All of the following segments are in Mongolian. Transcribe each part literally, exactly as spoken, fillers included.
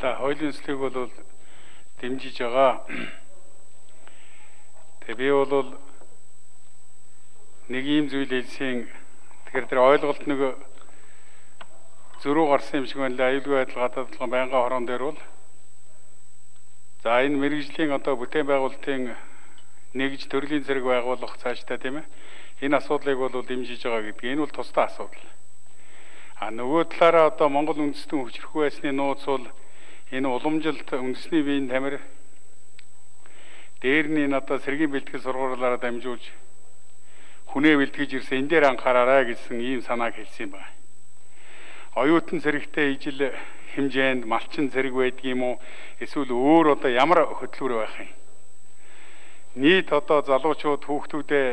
За хуулийн төслийг бол дэмжиж байгаа. Тэгээ би бол нэг ийм зүйл хэлсэн. Тэгэхээр тэр ойлголт нэг зөрүү гарсан юм шиг байна лээ. Аюулгүй байдал гадаад толгойн байнгын хорон дээр бол за энэ мэргэжлийн одоо бүтээн байгуулалтын нэгж төрлийн зэрэг байгуулах цаашдаа тийм ээ. Энэ асуудлыг бол дэмжиж байгаа гэдэг. Энэ бол тусдаа асуудал. А нөгөө талаараа одоо Монгол үндэстэн хүчрэх байсны нууц бол энэ уламжилт үндэсний биеийн тамир дээр нь одоо сэргийн бэлтгэл сургуулиараа дамжуулж хүнээ бэлтгэж ирсэн энэ дээр анхаараарай гэсэн ийм санааг хэлсэн байна. Оюутан зэрэгтэй ижил хэмжээнд малчин зэрэг байдаг юм уу? Эсвэл өөр одоо ямар хөтөлбөр байх юм? Нийт одоо залуучууд хүүхдүүдээ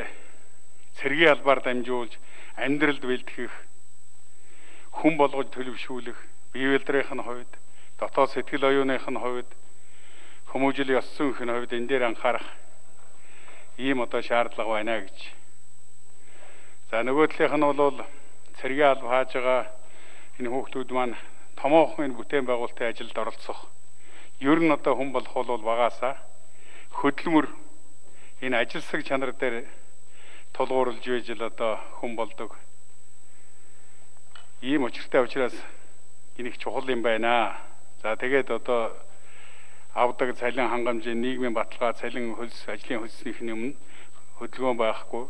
цэргийн албаар дамжуулж амьдралд бэлтгэх, хүн болгож төлөвшүүлэх, бие бэлтрийн хувьд, дотоод сэтгэл оюуных нь хувьд, хүмүүжил ёс зүйн хувьд энэ дээр анхаарах ийм одоо шаардлага байна гэж. За нөгөө талынх нь бол цэргийн алба хааж байгаа энэ хүүхдүүд маань томоохон энэ бүтээн байгуулалтын ажилд оролцох. Ер нь одоо хүн болох бол багаасаа хөдөлмөр энэ ажилсаг чанар дээр тулгуурлаж байж л одоо хүн болдог. Ийм учиртай учраас энийг чухал юм байна. За тэгээд одоо авдаг цалин хангамжийн нийгмийн баталгаа, цалин хөлс, ажлын хөлснийхний өмнө хөдөлгөөн байхгүй,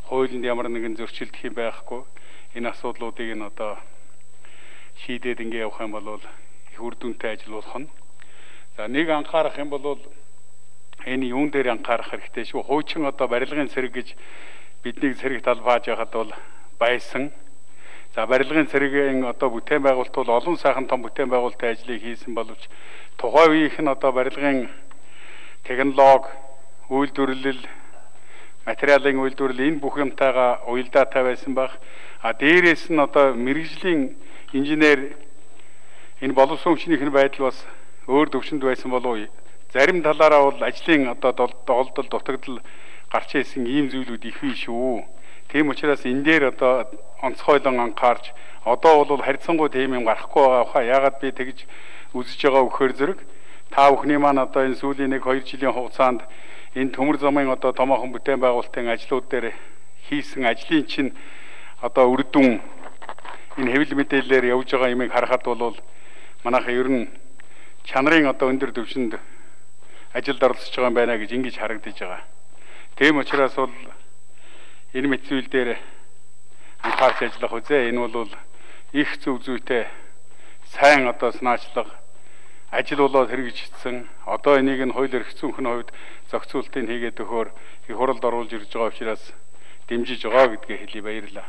хуулинд ямар нэгэн зөрчилдөх юм байхгүй. Энэ асуудлуудыг нь одоо шийдээд ингэ явах юм бол их үр дүнтэй ажил болох нь. За нэг анхаарах юм бол энэ юун дээр анхаарах хэрэгтэй шүү. Хуучин одоо барилгын цэрэг гэж бидний цэрэг талбааж байхад бол байсан. За барилгын цэрэгийн одоо бүтээн байгуулалт бол олон сайхан том бүтээн байгуулалтын ажлыг хийсэн боловч тухайн үеийнх нь одоо барилгын технологи, үйлдвэрлэл, материалын үйлдвэрлэл энэ бүх юмтайгаа уялдаатай байсан баг. А дээрээс нь одоо мэргэжлийн инженер энэ боловсон хүчнийх нь байдал бас өөр төвшөнд байсан болов. Зарим талаараа бол ажлын одоо доголдол, дутагдал гарч ирсэн ийм зүйлүүд их биш шүү. Тийм учраас энэ дээр одоо онцгойлон анхаарч одоо бол харьцангуй тийм юм гарахгүй байгаа хаа. Яагаад би тэгж үзэж байгаа вөхөр зэрэг та бүхний маань одоо энэ сүүлийн нэг хоёр жилийн хугацаанд энэ төмөр замын одоо томоохон бүтээн байгуулалтын ажлууд дээр хийсэн ажлын чинь одоо үр дүн энэ хэвлэл мэдээлэлээр явж байгаа юмыг харахад бол манайхаа ер нь чанарын одоо өндөр түвшинд ажилд оролцож байгаа юм байна гэж ингэж харагдаж байгаа. Тийм учраас бол энэ мэт зүйл дээр анхаарч ажиллах үзье. Энэ бол их зөв зүйтэй сайн одоо санаачлага ажил болоод хэрэгжчихсэн. Одоо энийг нь хууль эрх зүйн хувьд зохицуултыг хийгээд өгөхөөр их хуралд оруулж ирж байгаа учраас дэмжиж байгаа гэдгийг хэлье. Баярлалаа.